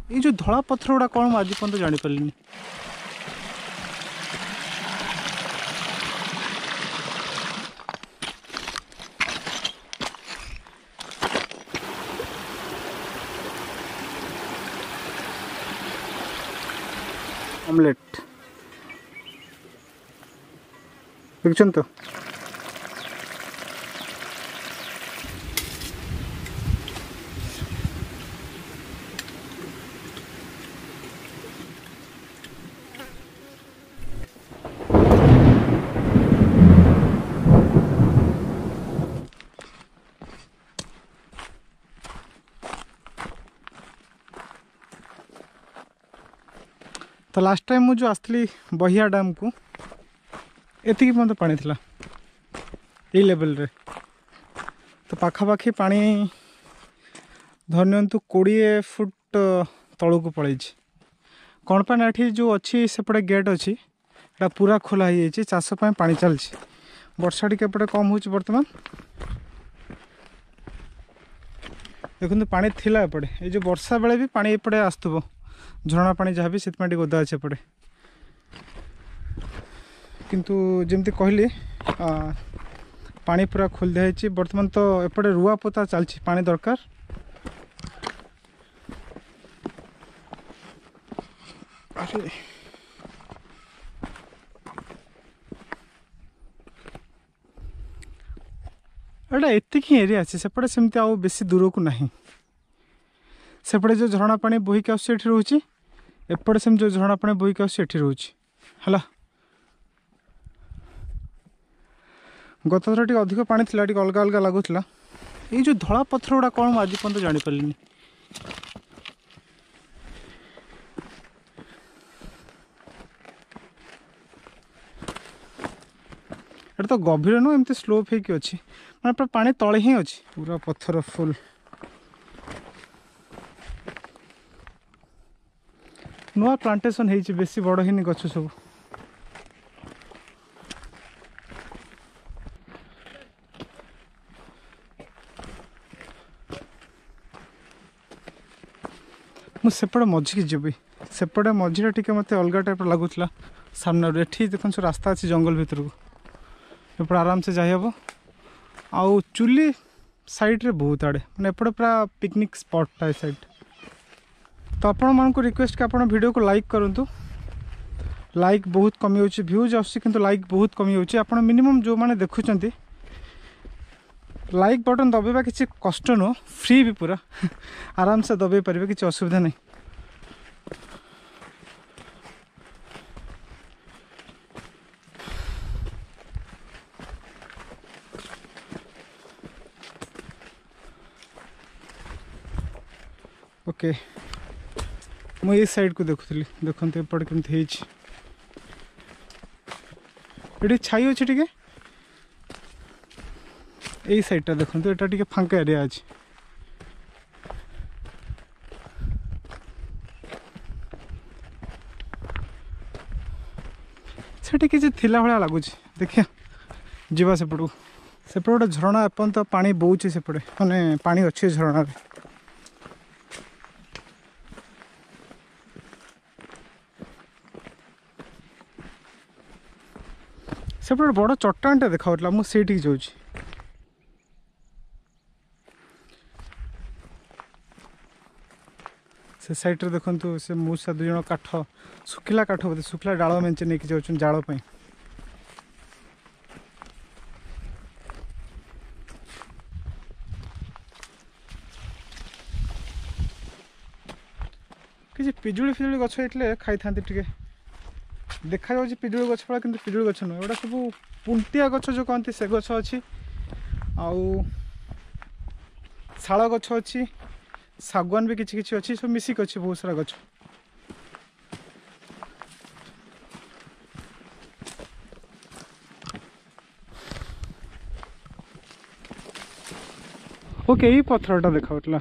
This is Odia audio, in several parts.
ଏଇ ଯେଉଁ ଧଳା ପଥର ଗୁଡ଼ା କ'ଣ ମୁଁ ଆଜି ପର୍ଯ୍ୟନ୍ତ ଜାଣିପାରିଲିନି। ଅମଲେଟ୍ ଦେଖୁଛନ୍ତି ତ? ତ ଲାଷ୍ଟ ଟାଇମ୍ ମୁଁ ଯେଉଁ ଆସିଥିଲି ବହିଆ ଡ୍ୟାମ୍କୁ, ଏତିକି ପର୍ଯ୍ୟନ୍ତ ପାଣି ଥିଲା ଏଇ ଲେଭେଲରେ। ତ ପାଖାପାଖି ପାଣି ଧରି ନିଅନ୍ତୁ 20 ଫୁଟ ତଳକୁ ପଳେଇଛି। କ'ଣ ପାଇଁ ନା ଏଠି ଯେଉଁ ଅଛି ସେପଟେ ଗେଟ୍ ଅଛି, ଏଇଟା ପୁରା ଖୋଲା ହେଇଯାଇଛି, ଚାଷ ପାଇଁ ପାଣି ଚାଲିଛି। ବର୍ଷା ଟିକେ ଏପଟେ କମ୍ ହେଉଛି ବର୍ତ୍ତମାନ। ଦେଖନ୍ତୁ ପାଣି ଥିଲା ଏପଟେ, ଏଇ ଯେଉଁ ବର୍ଷା ବେଳେ ବି ପାଣି ଏପଟେ ଆସୁଥିବ, ଝରଣା ପାଣି ଯାହା ବି, ସେଥିପାଇଁ ଟିକେ ଓଦା ଅଛି ଏପଟେ। କିନ୍ତୁ ଯେମିତି କହିଲି ପାଣି ପୁରା ଖୋଲି ଦିଆହେଇଛି ବର୍ତ୍ତମାନ। ତ ଏପଟେ ରୁଆ ପୋତା ଚାଲିଛି, ପାଣି ଦରକାର। ଆରେ ଏଇଟା ଏତିକି ହିଁ ଏରିଆ ଅଛି, ସେପଟେ ସେମିତି ଆଉ ବେଶୀ ଦୂରକୁ ନାହିଁ। ସେପଟେ ଯେଉଁ ଝରଣା ପାଣି ବୋହିକି ଆସୁଛି ଏଠି ରହୁଛି, ଏପଟେ ସେମିତି ଯେଉଁ ଝରଣା ପାଣି ବୋହିକି ଆସୁଛି ଏଠି ରହୁଛି। ହେଲା, ଗତଥର ଟିକେ ଅଧିକ ପାଣି ଥିଲା, ଟିକେ ଅଲଗା ଅଲଗା ଲାଗୁଥିଲା। ଏଇ ଯେଉଁ ଧଳା ପଥର ଗୁଡ଼ା କ'ଣ ମୁଁ ଆଜି ପର୍ଯ୍ୟନ୍ତ ଜାଣିପାରିଲିନି। ଏଟା ତ ଗଭୀର ନୁହଁ, ଏମିତି ସ୍ଲୋପ୍ ହେଇକି ଅଛି, ମାନେ ପୁରା ପାଣି ତଳେ ହିଁ ଅଛି, ପୁରା ପଥର ଫୁଲ୍। ନୂଆ ପ୍ଲାଣ୍ଟେସନ୍ ହେଇଛି, ବେଶୀ ବଡ଼ ହେଇନି ଗଛ ସବୁ। ମୁଁ ସେପଟେ ମଝିକି ଯିବି, ସେପଟେ ମଝିରେ ଟିକେ ମୋତେ ଅଲଗା ଟାଇପ୍ର ଲାଗୁଥିଲା ସାମ୍ନାରୁ। ଏଠି ଦେଖନ୍ତୁ ସବୁ ରାସ୍ତା ଅଛି ଜଙ୍ଗଲ ଭିତରକୁ, ଏପଟେ ଆରାମସେ ଯାଇହେବ। ଆଉ ଚୁଲି ସାଇଡ଼୍ରେ ବହୁତ ଆଡ଼େ, ମାନେ ଏପଟେ ପୁରା ପିକନିକ୍ ସ୍ପଟ୍ଟା ଏ ସାଇଡ଼୍। ତ ଆପଣମାନଙ୍କୁ ରିକ୍ୱେଷ୍ଟ କି ଆପଣ ଭିଡ଼ିଓକୁ ଲାଇକ୍ କରନ୍ତୁ। ଲାଇକ୍ ବହୁତ କମିଯାଉଛି, ଭ୍ୟୁଜ୍ ଆସୁଛି କିନ୍ତୁ ଲାଇକ୍ ବହୁତ କମିଯାଉଛି। ଆପଣ ମିନିମମ୍ ଯେଉଁମାନେ ଦେଖୁଛନ୍ତି ଲାଇକ୍ ବଟନ୍ ଦବାଇବା କିଛି କଷ୍ଟ ନୁହଁ, ଫ୍ରି ବି ପୁରା, ଆରାମସେ ଦବାଇ ପାରିବେ, କିଛି ଅସୁବିଧା ନାହିଁ। ଓକେ, ମୁଁ ଏଇ ସାଇଡ଼୍କୁ ଦେଖୁଥିଲି, ଦେଖନ୍ତୁ ଏପଟେ କେମିତି ହେଇଛି। ଏଠି ଛାଇ ଅଛି ଟିକେ, ଏଇ ସାଇଡ଼୍ଟା ଦେଖନ୍ତୁ, ଏଟା ଟିକେ ଫାଙ୍କା ଏରିଆ ଅଛି। ସେଠି କିଛି ଥିଲା ଭଳିଆ ଲାଗୁଛି, ଦେଖିବା ଯିବା ସେପଟକୁ। ସେପଟେ ଗୋଟେ ଝରଣା ଏପର୍ଯ୍ୟନ୍ତ ପାଣି ବହୁଛି ସେପଟେ, ମାନେ ପାଣି ଅଛି ଝରଣାରେ। ସେପଟେ ଗୋଟେ ବଡ଼ ଚଟାଣଟା ଦେଖାଯାଉଥିଲା, ମୁଁ ସେଇଠିକି ଯାଉଛି। ସେ ସାଇଡ଼୍ରେ ଦେଖନ୍ତୁ ସେ ମଉସା ଦୁଇ ଜଣ କାଠ, ଶୁଖିଲା କାଠ ବୋଧେ, ଶୁଖିଲା ଡାଳ ମେଞ୍ଚେ ନେଇକି ଯାଉଛନ୍ତି ଜାଳ ପାଇଁ। କିଛି ପିଜୁଳି ଫିଜୁଳି ଗଛ ହେଇଥିଲେ ଖାଇଥାନ୍ତି ଟିକେ। ଦେଖାଯାଉଛି ପିଜୁଳି ଗଛ ଭଳିଆ, କିନ୍ତୁ ପିଜୁଳି ଗଛ ନୁହେଁ, ଏଗୁଡ଼ା ସବୁ ପୁଣ୍ଟିଆ ଗଛ ଯେଉଁ କହନ୍ତି ସେ ଗଛ ଅଛି। ଆଉ ଶାଳ ଗଛ ଅଛି, ଶାଗୁଆନ ବି କିଛି କିଛି ଅଛି, ସବୁ ମିଶିକି ଅଛି ବହୁତ ସାରା ଗଛ। ଓକେ, ଏଇ ପଥରଟା ଦେଖାଉଥିଲା,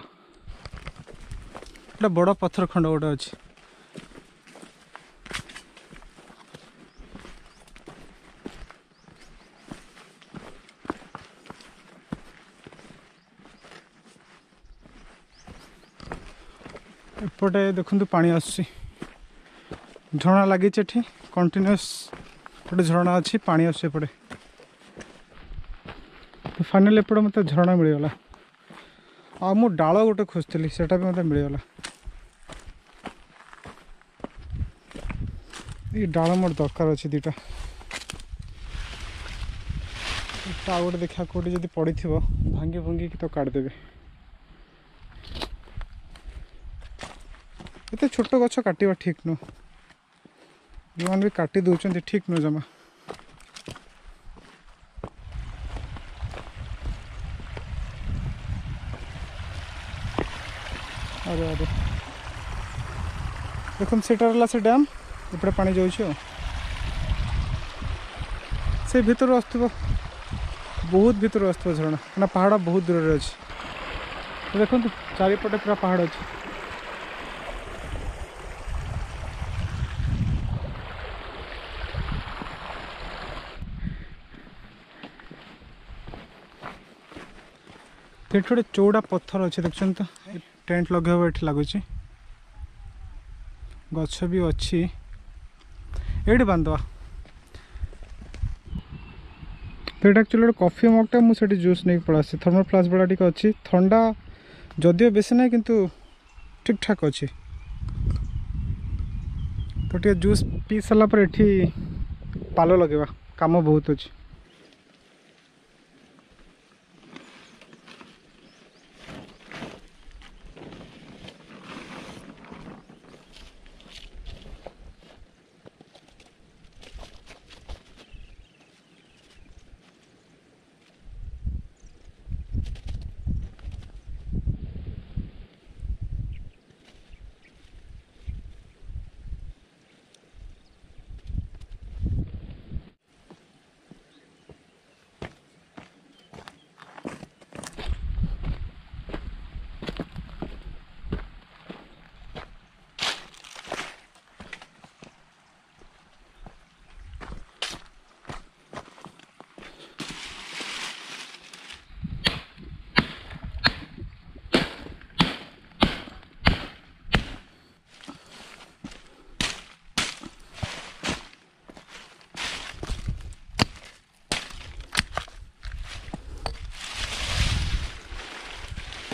ଏଟା ବଡ଼ ପଥର ଖଣ୍ଡ ଗୋଟେ ଅଛି। ଏପଟେ ଦେଖନ୍ତୁ ପାଣି ଆସୁଛି, ଝରଣା ଲାଗିଛି ଏଠି କଣ୍ଟିନ୍ୟୁଅସ୍ ଗୋଟେ ଝରଣା ଅଛି, ପାଣି ଆସୁଛି ଏପଟେ। ତ ଫାଇନାଲି ଏପଟେ ମୋତେ ଝରଣା ମିଳିଗଲା। ଆଉ ମୁଁ ଡାଳ ଗୋଟେ ଖୋଜୁଥିଲି, ସେଟା ବି ମୋତେ ମିଳିଗଲା। ଏଇ ଡାଳ ମୋର ଦରକାର ଅଛି ଦୁଇଟା। ଏଟା ଆଉ ଗୋଟେ ଦେଖିବା କେଉଁଠି ଯଦି ପଡ଼ିଥିବ, ଭାଙ୍ଗି ଭୁଙ୍ଗିକି ତ କାଟିଦେବେ। ଏତେ ଛୋଟ ଗଛ କାଟିବା ଠିକ୍ ନୁହଁ, ଯେଉଁମାନେ ବି କାଟି ଦେଉଛନ୍ତି ଠିକ୍ ନୁହଁ ଜମା। ଆରେ ଆରେ ଦେଖନ୍ତୁ ସେଟା ହେଲା ସେ ଡ୍ୟାମ୍, ଏପଟେ ପାଣି ଯାଉଛି। ଆଉ ସେ ଭିତରୁ ଆସୁଥିବ, ବହୁତ ଭିତରୁ ଆସୁଥିବ ଝରଣା, କାହିଁକିନା ପାହାଡ଼ ବହୁତ ଦୂରରେ ଅଛି। ତ ଦେଖନ୍ତୁ ଚାରିପଟେ ପୁରା ପାହାଡ଼ ଅଛି। ଏଠି ଗୋଟେ ଚଉଡ଼ା ପଥର ଅଛି ଦେଖୁଛନ୍ତି ତ, ଟେଣ୍ଟ ଲଗେଇବ ଏଠି ଲାଗୁଛି, ଗଛ ବି ଅଛି, ଏଇଠି ବାନ୍ଧିଦେବା। ତ ଏଇଟା ଆକ୍ଚୁଆଲି ଗୋଟେ କଫି ମଗ୍ଟା, ମୁଁ ସେଠି ଜୁସ୍ ନେଇକି ପଳେଇ ଆସିଛି। ଥର୍ମାଲ୍ ଫ୍ଲାସ୍କ ଭଳିଆ ଟିକେ ଅଛି, ଥଣ୍ଡା ଯଦିଓ ବେଶୀ ନାହିଁ କିନ୍ତୁ ଠିକ୍ଠାକ୍ ଅଛି। ତ ଟିକେ ଜୁସ୍ ପିଇ ସାରିଲା ପରେ ଏଠି ପାଲ ଲଗେଇବା, କାମ ବହୁତ ଅଛି।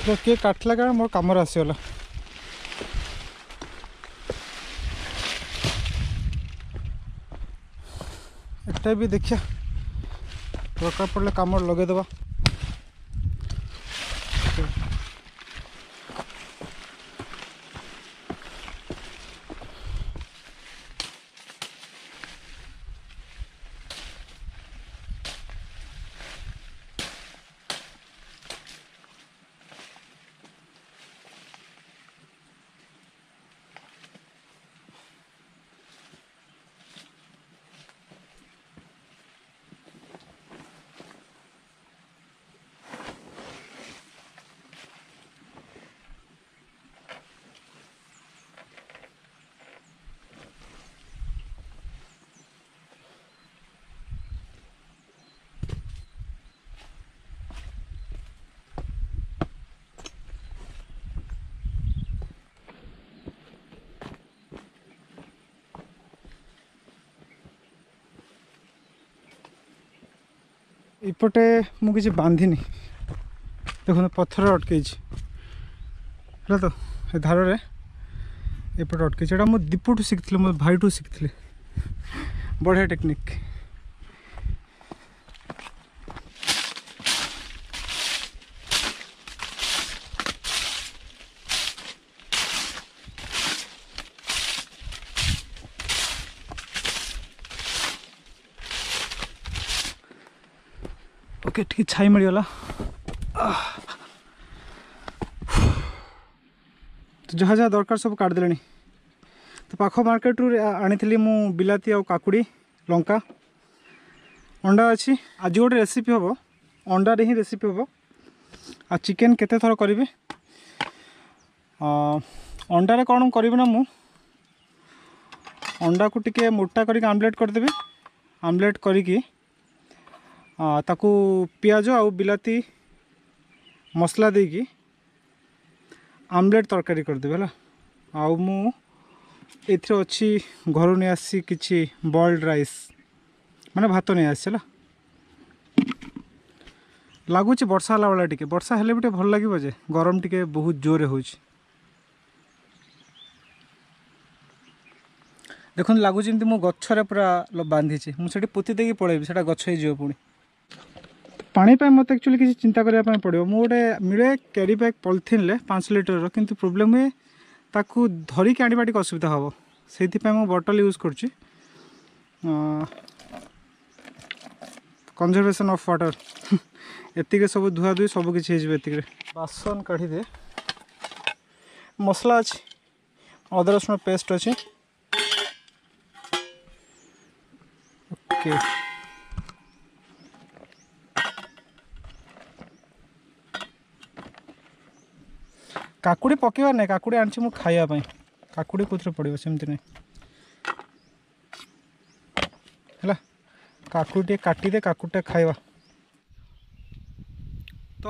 ତ କିଏ କାଟିଲା କାରଣ ମୋର କାମରେ ଆସିଗଲା। ଏଟା ବି ଦେଖିବା ଦରକାର ପଡ଼ିଲେ କାମରେ ଲଗେଇଦେବା। ଏପଟେ ମୁଁ କିଛି ବାନ୍ଧିନି, ଦେଖନ୍ତୁ ପଥର ଅଟକେଇଛି ହେଲା ତ, ଏ ଧାରରେ ଏପଟେ ଅଟକେଇଛି। ଏଇଟା ମୁଁ ଦୀପୁଠୁ ଶିଖିଥିଲି, ମୋ ଭାଇଠୁ ଶିଖିଥିଲି, ବଢ଼ିଆ ଟେକ୍ନିକ୍। ଓକେ, ଟିକେ ଛାଇ ମିଳିଗଲା। ତ ଯାହା ଯାହା ଦରକାର ସବୁ କାଟିଦେଲେଣି। ତ ପାଖ ମାର୍କେଟରୁ ଆଣିଥିଲି ମୁଁ ବିଲାତି ଆଉ କାକୁଡ଼ି, ଲଙ୍କା, ଅଣ୍ଡା ଅଛି। ଆଜି ଗୋଟେ ରେସିପି ହେବ, ଅଣ୍ଡାରେ ହିଁ ରେସିପି ହେବ। ଆଉ ଚିକେନ୍ କେତେ ଥର କରିବି, ଅଣ୍ଡାରେ କ'ଣ କରିବି ନା, ମୁଁ ଅଣ୍ଡାକୁ ଟିକେ ମୋଟା କରିକି ଆମଲେଟ୍ କରିଦେବି। ଆମଲେଟ୍ କରିକି ତାକୁ ପିଆଜ ଆଉ ବିଲାତି ମସଲା ଦେଇକି ଆମଲେଟ୍ ତରକାରୀ କରିଦେବି ହେଲା। ଆଉ ମୁଁ ଏଥିରେ ଅଛି ଘରୁ ନେଇ ଆସିଛି କିଛି ବଏଲ୍ଡ ରାଇସ୍, ମାନେ ଭାତ ନେଇ ଆସିଛି ହେଲା। ଲାଗୁଛି ବର୍ଷା ହେଲା ଭଳିଆ, ଟିକେ ବର୍ଷା ହେଲେ ବି ଟିକେ ଭଲ ଲାଗିବ ଯେ, ଗରମ ଟିକେ ବହୁତ ଜୋରରେ ହେଉଛି। ଦେଖନ୍ତୁ ଲାଗୁଛି ଯେମିତି ମୁଁ ଗଛରେ ପୁରା ବାନ୍ଧିଛି, ମୁଁ ସେଠି ପୋତି ଦେଇକି ପଳେଇବି, ସେଇଟା ଗଛ ହେଇଯିବ ପୁଣି। ପାଣି ପାଇଁ ମୋତେ ଆକ୍ଚୁଆଲି କିଛି ଚିନ୍ତା କରିବା ପାଇଁ ପଡ଼ିବ। ମୁଁ ଗୋଟେ ମିଳେ କ୍ୟାରି ବ୍ୟାଗ୍ ପଲିଥିନ୍ରେ 5 ଲିଟରର, କିନ୍ତୁ ପ୍ରୋବ୍ଲେମ୍ ହୁଏ ତାକୁ ଧରିକି ଆଣିବା ଟିକେ ଅସୁବିଧା ହେବ, ସେଇଥିପାଇଁ ମୁଁ ବଟଲ୍ ୟୁଜ୍ କରୁଛି। କନଜରଭେସନ୍ ଅଫ୍ ୱାଟର୍, ଏତିକି ସବୁ ଧୁଆଧୁଇ ସବୁ କିଛି ହେଇଯିବ ଏତିକିରେ। ବାସନ କାଢ଼ିଦେ, ମସଲା ଅଛି, ଅଦା ରସୁଣ ପେଷ୍ଟ ଅଛି। ଓକେ, କାକୁଡ଼ି ପକାଇବାର ନାହିଁ, କାକୁଡ଼ି ଆଣିଛି ମୁଁ ଖାଇବା ପାଇଁ, କାକୁଡ଼ି କେଉଁଥିରେ ପଡ଼ିବ ସେମିତି ନାହିଁ ହେଲା। କାକୁଡ଼ି ଟିକେ କାଟିଦେ, କାକୁଡ଼ିଟା ଖାଇବା। ତ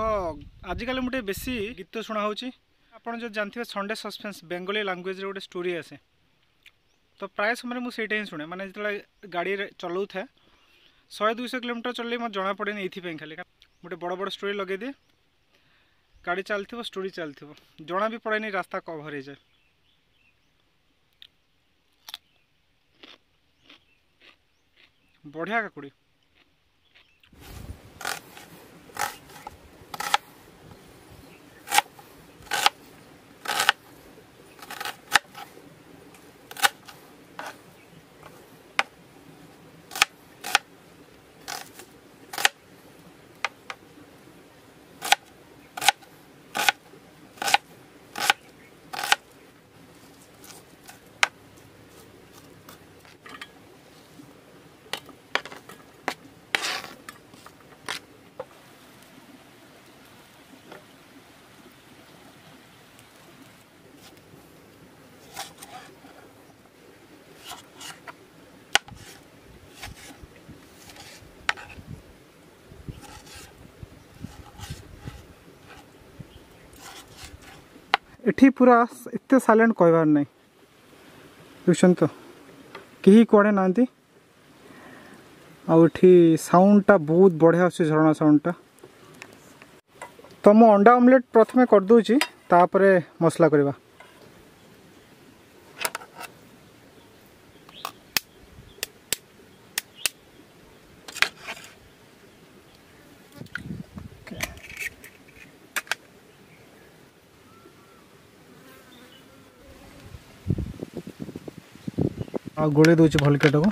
ଆଜିକାଲି ମୁଁ ଟିକେ ବେଶୀ ଗୀତ ଶୁଣା ହେଉଛି। ଆପଣ ଯଦି ଜାଣିଥିବେ ସଣ୍ଡେ ସସ୍ପେନ୍ସ ବେଙ୍ଗଲୀ ଲାଙ୍ଗୁଏଜରେ ଗୋଟେ ଷ୍ଟୋରି ଆସେ, ତ ପ୍ରାୟ ସମୟରେ ମୁଁ ସେଇଟା ହିଁ ଶୁଣେ। ମାନେ ଯେତେବେଳେ ଗାଡ଼ିରେ ଚଲାଉଥାଏ 100-200 କିଲୋମିଟର ଚଲେଇ ମୋତେ ଜଣାପଡ଼େନି, ଏଇଥିପାଇଁ ଖାଲି ଗୋଟେ ବଡ଼ ବଡ଼ ଷ୍ଟୋରି ଲଗେଇଦିଏ, ଗାଡ଼ି ଚାଲିଥିବ ଷ୍ଟୋରି ଚାଲିଥିବ, ଜଣା ବି ପଡ଼େନି, ରାସ୍ତା କଭର୍ ହେଇଯାଏ। ବଢ଼ିଆ କାକୁଡ଼ି। ଏଠି ପୁରା ଏତେ ସାଇଲେଣ୍ଟ କହିବାର ନାହିଁ, ବୁଝୁଛନ୍ତି ତ, କେହି କୁଆଡ଼େ ନାହାନ୍ତି। ଆଉ ଏଠି ସାଉଣ୍ଡଟା ବହୁତ ବଢ଼ିଆ ଆସୁଛି, ଝରଣା ସାଉଣ୍ଡଟା। ତ ମୁଁ ଅଣ୍ଡା ଅମଲେଟ୍ ପ୍ରଥମେ କରିଦେଉଛି, ତାପରେ ମସଲା କରିବା। ଆଉ ଗୋଳେଇ ଦେଉଛି ଭଲକି ଏଟାକୁ।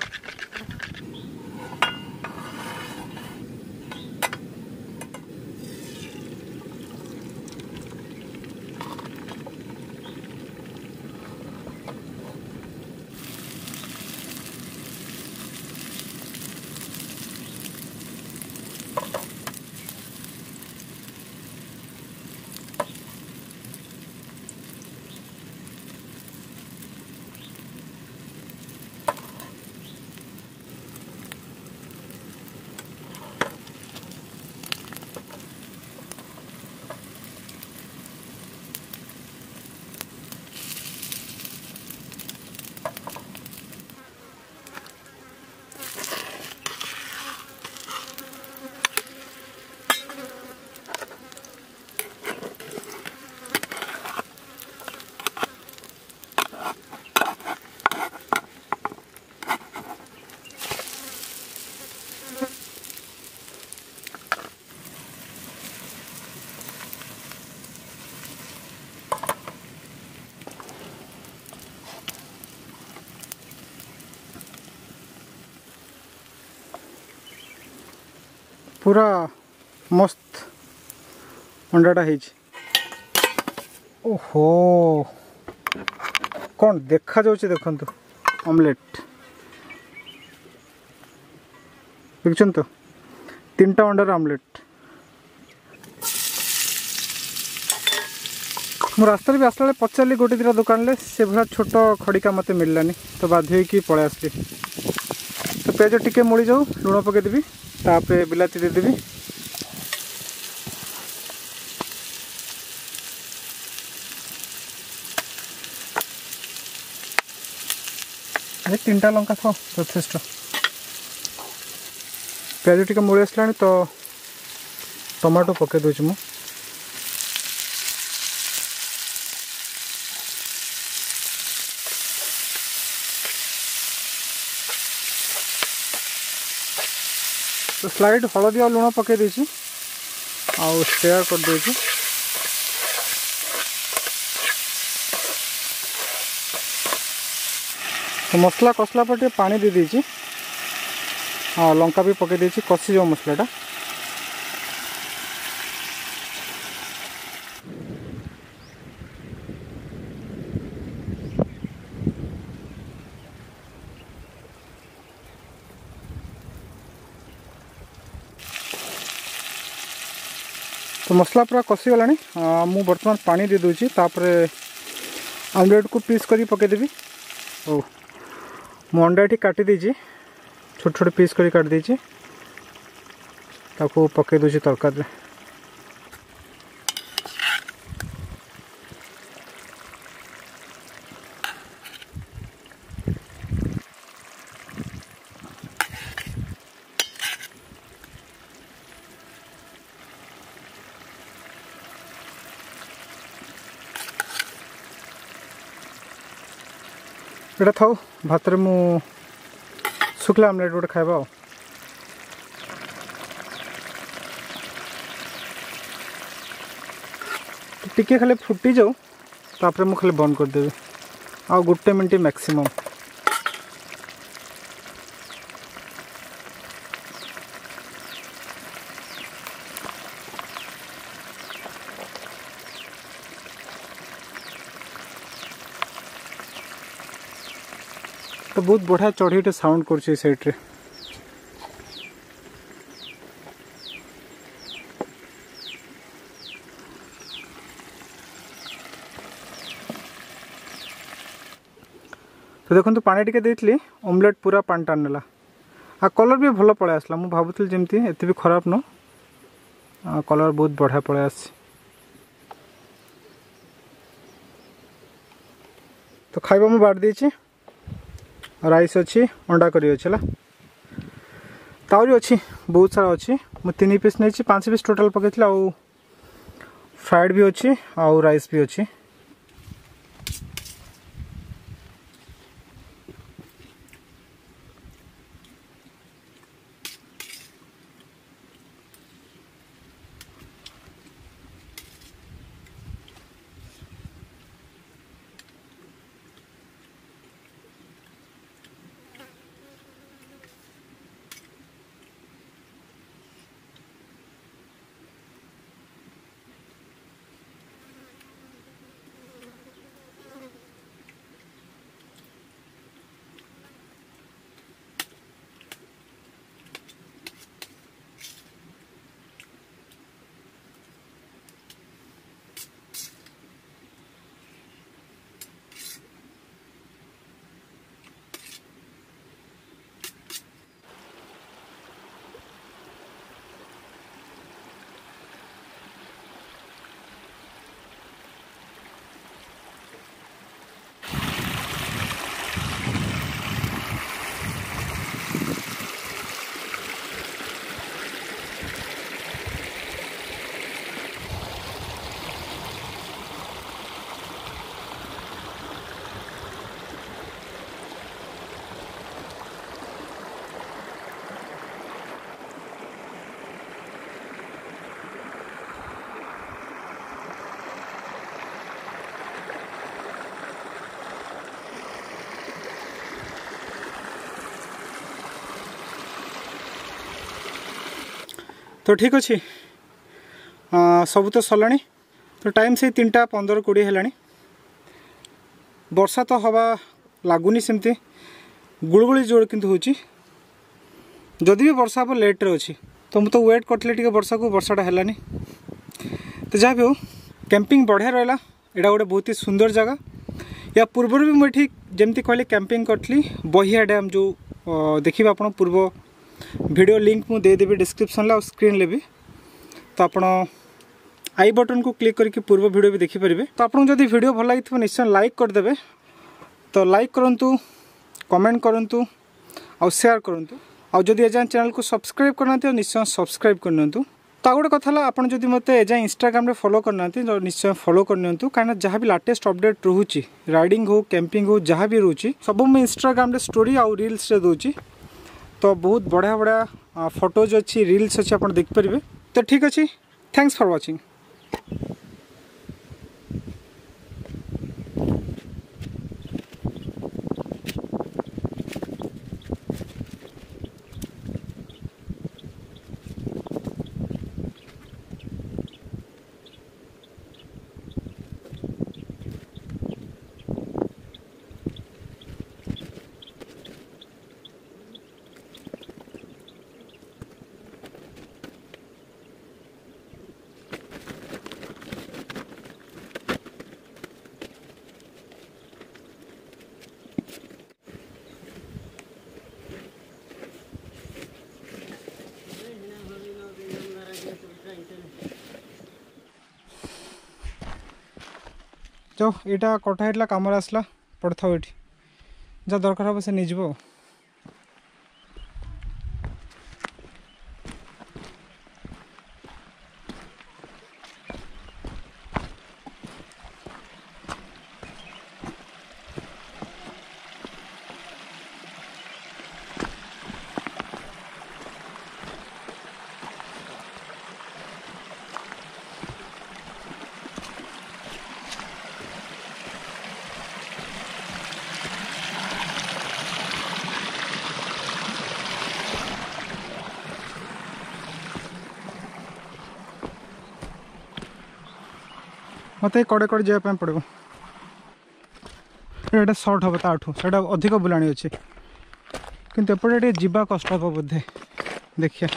ପୁରା ମସ୍ତ ଅଣ୍ଡାଟା ହେଇଛି। ଓହୋ, କ'ଣ ଦେଖାଯାଉଛି ଦେଖନ୍ତୁ ଅମଲେଟ୍, ଦେଖୁଛନ୍ତି ତ, 3ଟା ଅଣ୍ଡାର ଅମଲେଟ୍। ମୁଁ ରାସ୍ତାରେ ବି ଆସିଲା ବେଳେ ପଚାରିଲି ଗୋଟେ ଦୁଇଟା ଦୋକାନରେ, ସେଭଳିଆ ଛୋଟ ଖଡ଼ିକା ମୋତେ ମିଳିଲାନି, ତ ବାଧ୍ୟ ହେଇକି ପଳେଇ ଆସିଲି। ତ ପିଆଜ ଟିକେ ମଳିଯାଉ, ଲୁଣ ପକାଇଦେବି, ତାପରେ ବିଲାତି ଦେଇଦେବି। ଏ 3ଟା ଲଙ୍କା ଥାଉ ଯଥେଷ୍ଟ। ପିଆଜ ଟିକେ ମୂଳି ଆସିଲାଣି ତ ଟମାଟୋ ପକାଇ ଦେଉଛି ମୁଁ। ତ ସ୍ଲାଇଡ୍ ହଳଦୀ ଆଉ ଲୁଣ ପକାଇ ଦେଇଛି ଆଉ ଷ୍ଟେୟାର କରିଦେଉଛି। ତ ମସଲା କଷିଲା ପରେ ଟିକେ ପାଣି ଦେଇଦେଇଛି, ଆଉ ଲଙ୍କା ବି ପକାଇ ଦେଇଛି, କଷିଯିବ ମସଲାଟା। ତ ମସଲା ପୁରା କଷିଗଲାଣି, ମୁଁ ବର୍ତ୍ତମାନ ପାଣି ଦେଇଦେଉଛି। ତାପରେ ଆମଲେଟ୍କୁ ପିସ୍ କରିକି ପକାଇଦେବି। ହଉ, ମୁଁ ଅଣ୍ଡା ଏଠି କାଟି ଦେଇଛି, ଛୋଟ ଛୋଟ ପିସ୍ କରି କାଟି ଦେଇଛି, ତାକୁ ପକାଇ ଦେଉଛି ତରକାରୀରେ। ଏଇଟା ଥାଉ, ଭାତରେ ମୁଁ ଶୁଖିଲା ଆମଲେଟ୍ ଗୋଟେ ଖାଇବା। ଆଉ ଟିକେ ଖାଲି ଫୁଟିଯାଉ, ତାପରେ ମୁଁ ଖାଲି ବନ୍ଦ କରିଦେବି। ଆଉ 1 ମିନିଟ୍ ମ୍ୟାକ୍ସିମମ୍। ତ ବହୁତ ବଢ଼ିଆ ଚଢ଼େଇଟେ ସାଉଣ୍ଡ କରୁଛି ଏଇ ସାଇଡ଼୍ରେ। ତ ଦେଖନ୍ତୁ ପାଣି ଟିକେ ଦେଇଥିଲି, ଅମଲେଟ୍ ପୁରା ପାଣି ଟାଣି ନେଲା, ଆଉ କଲର୍ ବି ଭଲ ପଳେଇ ଆସିଲା। ମୁଁ ଭାବୁଥିଲି ଯେମିତି ଏତେ ବି ଖରାପ ନୁହଁ, କଲର୍ ବହୁତ ବଢ଼ିଆ ପଳେଇ ଆସିଛି। ତ ଖାଇବା ମୁଁ ବାଡ଼ି ଦେଇଛି, ରାଇସ୍ ଅଛି, ଅଣ୍ଡା କରି ଅଛି, ହେଲା ତାହୁରି ଅଛି ବହୁତ ସାରା ଅଛି। ମୁଁ 3 ପିସ୍ ନେଇଛି, 5 ପିସ୍ ଟୋଟାଲ୍ ପକାଇଥିଲି। ଆଉ ଫ୍ରାଏଡ଼୍ ବି ଅଛି ଆଉ ରାଇସ୍ ବି ଅଛି। ତ ଠିକ୍ ଅଛି, ସବୁ ତ ସରିଲାଣି। ତ ଟାଇମ୍ ସେଇ 3:15-20 ହେଲାଣି। ବର୍ଷା ତ ହେବା ଲାଗୁନି, ସେମିତି ଗୁଳୁଗୁଳି ଜୋର କିନ୍ତୁ ହେଉଛି। ଯଦି ବି ବର୍ଷା ହେବ ଲେଟ୍ରେ ଅଛି। ତ ମୁଁ ତ ୱେଟ୍ କରିଥିଲି ଟିକେ ବର୍ଷାକୁ, ବର୍ଷାଟା ହେଲାନି। ତ ଯାହା ବି ହଉ, କ୍ୟାମ୍ପିଂ ବଢ଼ିଆ ରହିଲା। ଏଇଟା ଗୋଟେ ବହୁତ ହି ସୁନ୍ଦର ଜାଗା। ୟା ପୂର୍ବରୁ ବି ମୁଁ ଏଠି ଯେମିତି କହିଲି କ୍ୟାମ୍ପିଂ କରିଥିଲି, ବହିଆ ଡ୍ୟାମ୍ ଯେଉଁ ଦେଖିବେ ଆପଣ, ପୂର୍ବ ଭିଡ଼ିଓ ଲିଙ୍କ୍ ମୁଁ ଦେଇଦେବି ଡିସ୍କ୍ରିପ୍ସନ୍ରେ ଆଉ ସ୍କ୍ରିନ୍ରେ ବି। ତ ଆପଣ I ବଟନ୍କୁ କ୍ଲିକ୍ କରିକି ପୂର୍ବ ଭିଡ଼ିଓ ବି ଦେଖିପାରିବେ। ତ ଆପଣଙ୍କୁ ଯଦି ଭିଡ଼ିଓ ଭଲ ଲାଗିଥିବ ନିଶ୍ଚୟ ଲାଇକ୍ କରିଦେବେ। ତ ଲାଇକ୍ କରନ୍ତୁ, କମେଣ୍ଟ କରନ୍ତୁ ଆଉ ସେୟାର କରନ୍ତୁ। ଆଉ ଯଦି ଏଯାଏଁ ଚ୍ୟାନେଲକୁ ସବସ୍କ୍ରାଇବ୍ କରିନାହାନ୍ତି ନିଶ୍ଚୟ ସବସ୍କ୍ରାଇବ୍ କରିନିଅନ୍ତୁ। ତ ଆଉ ଗୋଟେ କଥା ହେଲା, ଆପଣ ଯଦି ମୋତେ ଏଯାଏଁ ଇନଷ୍ଟାଗ୍ରାମରେ ଫଲୋ କରିନାହାନ୍ତି ତ ନିଶ୍ଚୟ ଫଲୋ କରିନିଅନ୍ତୁ, କାହିଁକିନା ଯାହା ବି ଲାଟେଷ୍ଟ ଅପଡ଼େଟ୍ ରହୁଛି, ରାଇଡ଼ିଂ ହଉ, କ୍ୟାମ୍ପିଂ ହଉ, ଯାହା ବି ରହୁଛି ସବୁ ମୁଁ ଇନଷ୍ଟାଗ୍ରାମରେ ଷ୍ଟୋରି ଆଉ ରିଲ୍ସରେ ଦେଉଛି। ତ ବହୁତ ବଢ଼ିଆ ବଢ଼ିଆ ଫଟୋଜ୍ ଅଛି, ରିଲ୍ସ ଅଛି, ଆପଣ ଦେଖିପାରିବେ। ତ ଠିକ୍ ଅଛି, thanks for watching. ଯାଉ, ଏଇଟା କଟା ହେଇଥିଲା, କାମରେ ଆସିଲା, ପଡ଼ିଥାଉ ଏଠି, ଯାହା ଦରକାର ହେବ ସେ ନେଇଯିବ। ଆଉ ମୋତେ କଡ଼େ କଡ଼େ ଯିବା ପାଇଁ ପଡ଼ିବ। ଏଇଟା ସର୍ଟ ହେବ ତାଠୁ, ସେଇଟା ଅଧିକ ବୁଲାଣି ଅଛି, କିନ୍ତୁ ଏପଟେ ଟିକେ ଯିବା କଷ୍ଟ ହେବ ବୋଧେ। ଦେଖିବା।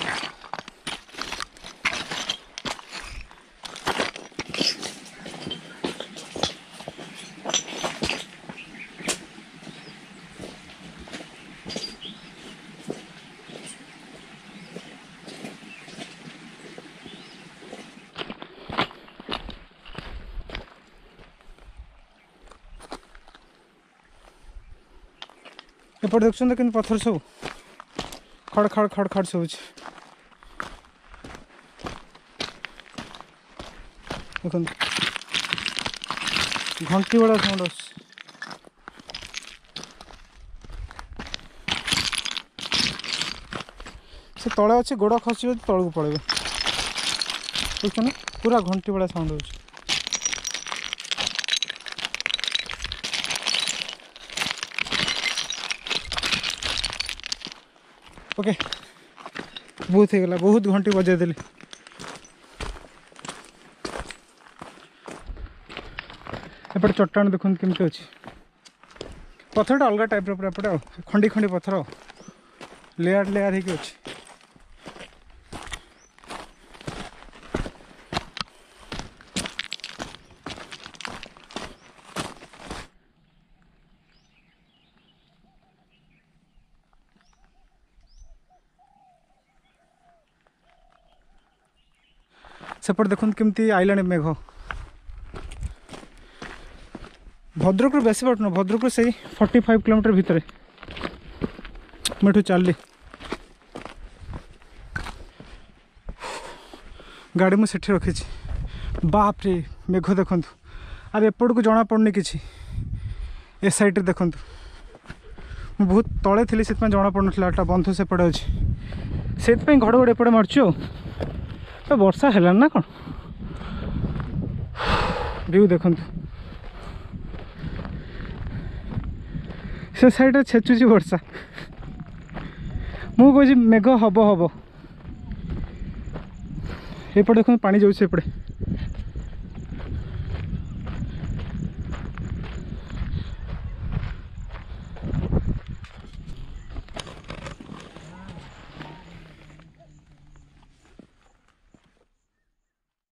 ଏପଟେ ଦେଖୁଛନ୍ତି କିନ୍ତୁ ପଥର ସବୁ ଖଡ଼ ଖଡ଼ ଖଡ଼ ଖଡ଼ ଶୁଭୁଛି। ଦେଖନ୍ତୁ ଘଣ୍ଟି ଭଳିଆ ସାଉଣ୍ଡ ଆସୁଛି। ସେ ତଳେ ଅଛି, ଗୋଡ଼ ଖସିବ ତଳକୁ ପଳେଇବେ। ଦେଖୁଛନ୍ତି ପୁରା ଘଣ୍ଟି ଭଳିଆ ସାଉଣ୍ଡ ହେଉଛି। ଓକେ, ବହୁତ ହେଇଗଲା, ବହୁତ ଘଣ୍ଟି ବଜାଇ ଦେଲି। ଏପଟେ ଚଟ୍ଟାଣ ଦେଖନ୍ତୁ କେମିତି ଅଛି। ପଥରଟା ଅଲଗା ଟାଇପ୍ର ପୁରା ଏପଟେ, ଆଉ ଖଣ୍ଡି ଖଣ୍ଡି ପଥର ଲେୟାର ଲେୟାର ହେଇକି ଅଛି। ସେପଟେ ଦେଖନ୍ତୁ କେମିତି ଆଇଲାଣି ମେଘ। ଭଦ୍ରକରୁ ବେଶୀ ବାଟ ନୁହଁ, ଭଦ୍ରକରୁ ସେଇ 45 କିଲୋମିଟର ଭିତରେ ମୁଁ ଏଠୁ ଚାଲିଲି। ଗାଡ଼ି ମୁଁ ସେଠି ରଖିଛି। ବାପରେ ମେଘ ଦେଖନ୍ତୁ, ଆରେ ଏପଟକୁ ଜଣାପଡ଼ୁନି କିଛି। ଏ ସାଇଡ଼୍ରେ ଦେଖନ୍ତୁ, ମୁଁ ବହୁତ ତଳେ ଥିଲି ସେଥିପାଇଁ ଜଣାପଡ଼ୁନଥିଲା। ଏଟା ବନ୍ଧ ସେପଟେ ଅଛି, ସେଥିପାଇଁ ଘଡ଼ଘଡ଼ି ଏପଟେ ମାରୁଛି। ଆଉ ତ ବର୍ଷା ହେଲାଣି ନା କ'ଣ? ଭିଉ ଦେଖନ୍ତୁ, ସେ ସାଇଡ଼୍ରେ ଛେଚୁଛି ବର୍ଷା। ମୁଁ କହୁଛି ମେଘ ହବ ହବ। ଏପଟେ ଦେଖନ୍ତୁ ପାଣି ଯାଉଛି ଏପଟେ।